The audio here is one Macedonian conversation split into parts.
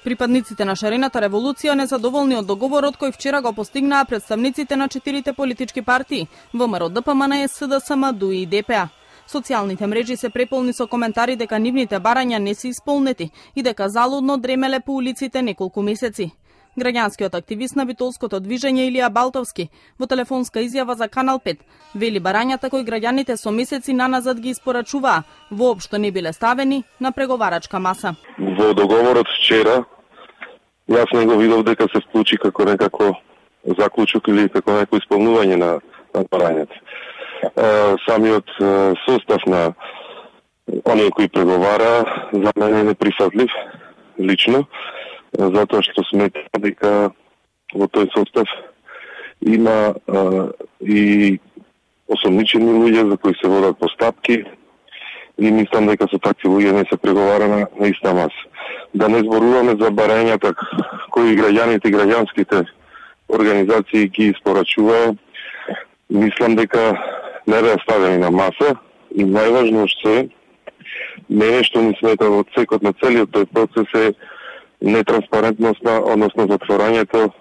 Припадниците на шарената револуција незадоволни од договорот кој вчера го постигнаа представниците на 4 политички партии ВМРО, ДПМН, СДСМ, ДУИ и ДПА. Социјалните мрежи се преполни со коментари дека нивните барања не се исполнети и дека залудно дремеле по улиците неколку месеци. Граѓанскиот активист на Битолското движење Илија Балтовски во телефонска изјава за Канал 5 вели барањата кои граѓаните со месеци наназад ги испорачуваа воопшто не биле ставени на преговарачка маса. Во договорот вчера јас не го видов дека се вклучи како некако заклучок или како некој исполнување на барањата. Самиот состав на оние кои преговара за мене е неприфатлив лично, затоа што сметам дека во тој состав има и осомничени луѓе за кои се водат постапки и мислам дека со такви луѓе не се преговара на иста маса. Да не зборуваме за барањата кои граѓаните и граѓанските организации ги испорачуваа, мислам дека не беа ставени на маса и најважно што е, мене што ми смета во цекот на целиот тој процес е нетранспарентноста, односно затворањето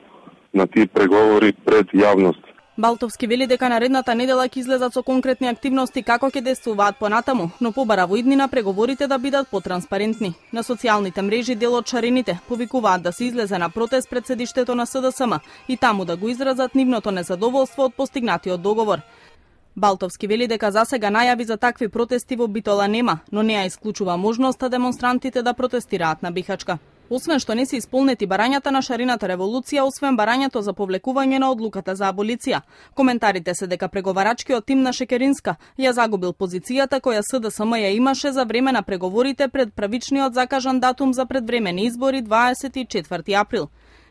на тие преговори пред јавност. Балтовски вели дека наредната недела ќе излезат со конкретни активности како ќе действуваат понатаму, но побара во иднина преговорите да бидат потранспарентни. На социјалните мрежи дел од шарените повикуваат да се излезе на протест пред седиштето на СДСМ и таму да го изразат нивното незадоволство од постигнатиот договор. Балтовски вели дека засега најави за такви протести во Битола нема, но не ја исклучува можноста демонстрантите да протестираат на Бихачка. Освен што не се исполнети барањата на шарената револуција, освен барањето за повлекување на одлуката за аболиција, коментарите се дека преговарачкиот тим на Шекеринска ја загубил позицијата која СДСМ ја имаше за време на преговорите пред правичниот закажан датум за предвремени избори 24 април.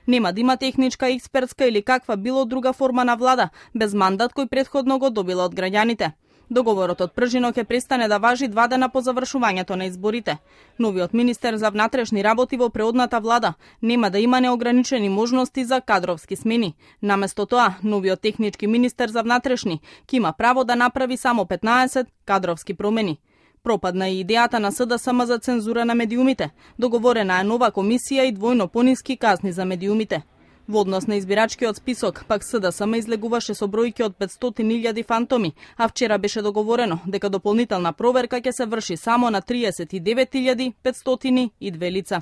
Нема да има техничка, експертска или каква било друга форма на влада, без мандат кој претходно го добила од граѓаните. Договорот од пржино ќе престане да важи 2 дена по завршувањето на изборите. Новиот министер за внатрешни работи во преодната влада нема да има неограничени можности за кадровски смени. Наместо тоа, новиот технички министер за внатрешни ќе има право да направи само 15 кадровски промени. Пропадна и идејата на СДСМ за цензура на медиумите. Договорена е нова комисија и двојно пониски казни за медиумите. Во однос на избирачкиот список, пак СДСМ излегуваше со бројки од 500.000 фантоми, а вчера беше договорено дека дополнителна проверка ќе се врши само на 39.502 лица.